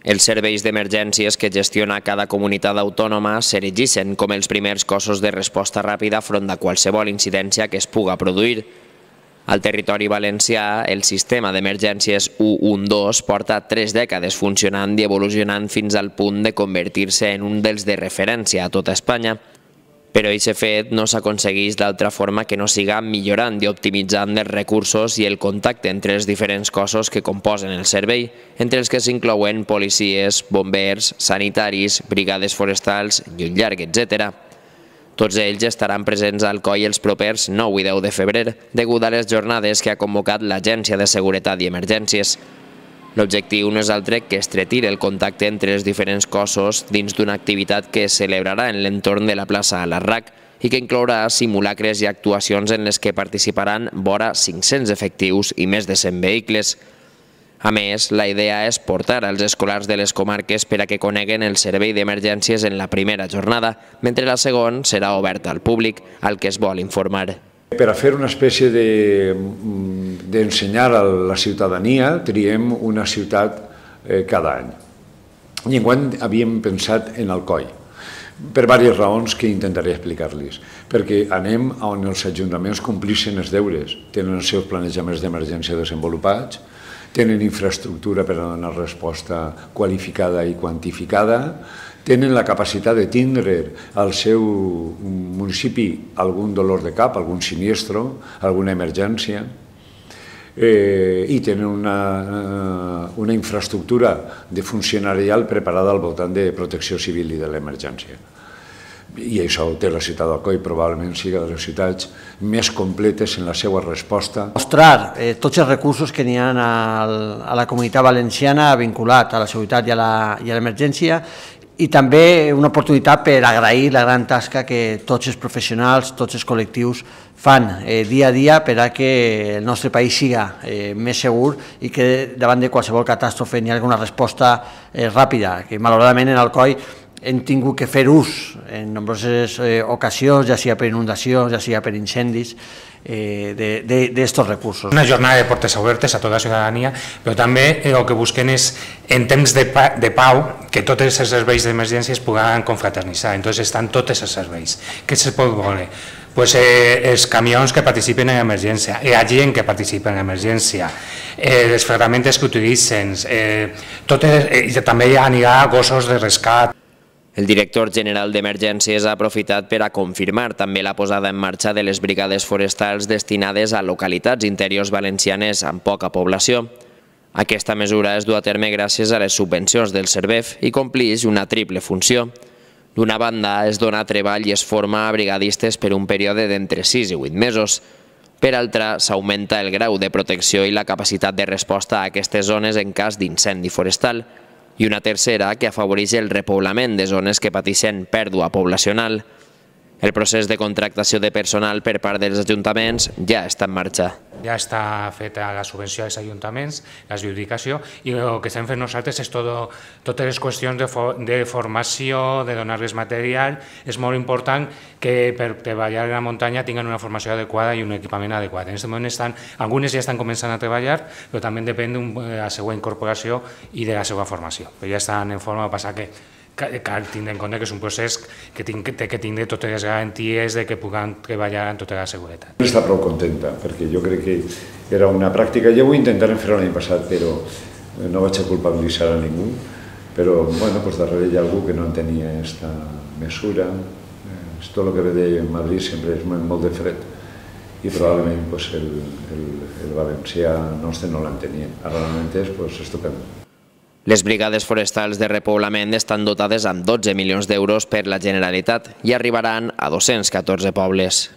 Els serveis d'emergències que gestiona cada comunitat autònoma s'erigissen com els primers cossos de resposta ràpida front a qualsevol incidència que es puga produir. Al territori valencià, el sistema d'emergències 112 porta 3 dècades funcionant i evolucionant fins al punt de convertir-se en un dels de referència a tota Espanya. Però aquest fet no s'aconsegueix d'altra forma que no siga millorant i optimitzant els recursos i el contacte entre els diferents cossos que composen el servei, entre els que s'inclouen policies, bombers, sanitaris, brigades forestals i un llarg etcètera. Tots ells estaran presents al COI els propers 9 i 10 de febrer, degut a les jornades que ha convocat l'Agència de Seguretat i Emergències. L'objectiu no és altre que estretir el contacte entre els diferents cossos dins d'una activitat que es celebrarà en l'entorn de la plaça Larrac i que inclourà simulacres i actuacions en les que participaran vora 500 efectius i més de 100 vehicles. A més, la idea és portar als escolars de les comarques per a que coneguen el servei d'emergències en la primera jornada, mentre la segona serà oberta al públic, al que es vol informar. Per a fer una espècie d'ensenyar a la ciutadania, triem una ciutat cada any. I enguany havíem pensat en Alcoi, per diverses raons que intentaré explicar-los. Perquè anem on els ajuntaments complissin els deures, tenen els seus planejaments d'emergència desenvolupats, tenen infraestructura per a donar resposta qualificada i quantificada, tenen la capacitat de tindre al seu municipi algun dolor de cap, algun siniestro, alguna emergència, i tenen una infraestructura de funcionarial preparada al voltant de protecció civil i de l'emergència. I això té la ciutat d'Alcoi, probablement sigui de les ciutats més completes en la seva resposta. Mostrar tots els recursos que n'hi ha a la comunitat valenciana vinculat a la seguretat i a l'emergència, i també una oportunitat per agrair la gran tasca que tots els professionals, tots els col·lectius fan dia a dia per a que el nostre país siga més segur i que davant de qualsevol catàstrofe n'hi hagi una resposta ràpida, que malauradament en Alcoi hem tingut que fer ús en nombroses ocasions, ja sigui per inundacions, ja sigui per incendis, d'estos recursos. Una jornada de portes obertes a tota la ciutadania, però també el que busquen és, en temps de pau, que tots els serveis d'emergència es puguen confraternitzar. Entonces estan tots els serveis. Què se pot voler? Els camions que participen en emergència, la gent que participa en emergència, les ferramentes que utilitzen, també anirà gossos de rescat. El director general d'Emergències ha aprofitat per a confirmar també la posada en marxa de les brigades forestals destinades a localitats interiors valencianes amb poca població. Aquesta mesura es du a terme gràcies a les subvencions del Servef i complix una triple funció. D'una banda, es dona treball i es forma a brigadistes per un període d'entre 6 i 8 mesos. Per altra, s'augmenta el grau de protecció i la capacitat de resposta a aquestes zones en cas d'incendi forestal. I una tercera que afavoreix el repoblament de zones que pateixen pèrdua poblacional. El procés de contractació de personal per part dels ajuntaments ja està en marxa. Ja està feta la subvenció als ajuntaments, l'adjudicació, i el que estem fent nosaltres és totes les qüestions de formació, de donar-les material. És molt important que per treballar a la muntanya tinguin una formació adequada i un equipament adequat. En aquest moment algunes ja estan començant a treballar, però també depèn de la seva incorporació i de la seva formació. Però ja estan en forma de passar que cal tindre en compte que és un procés que té que tindre totes les garanties de que puguem treballar amb tota la seguretat. Està prou contenta, perquè jo crec que era una pràctica. Jo ho intentarem fer l'any passat, però no vaig a culpabilitzar a ningú. Però darrere hi ha algú que no entenia aquesta mesura. Tot el que ve de Madrid sempre és molt de fred i probablement el valencià nostre no l'entenien. Ara realment és estupend. Les brigades forestals de repoblament estan dotades amb 12 milions d'euros per la Generalitat i arribaran a 214 pobles.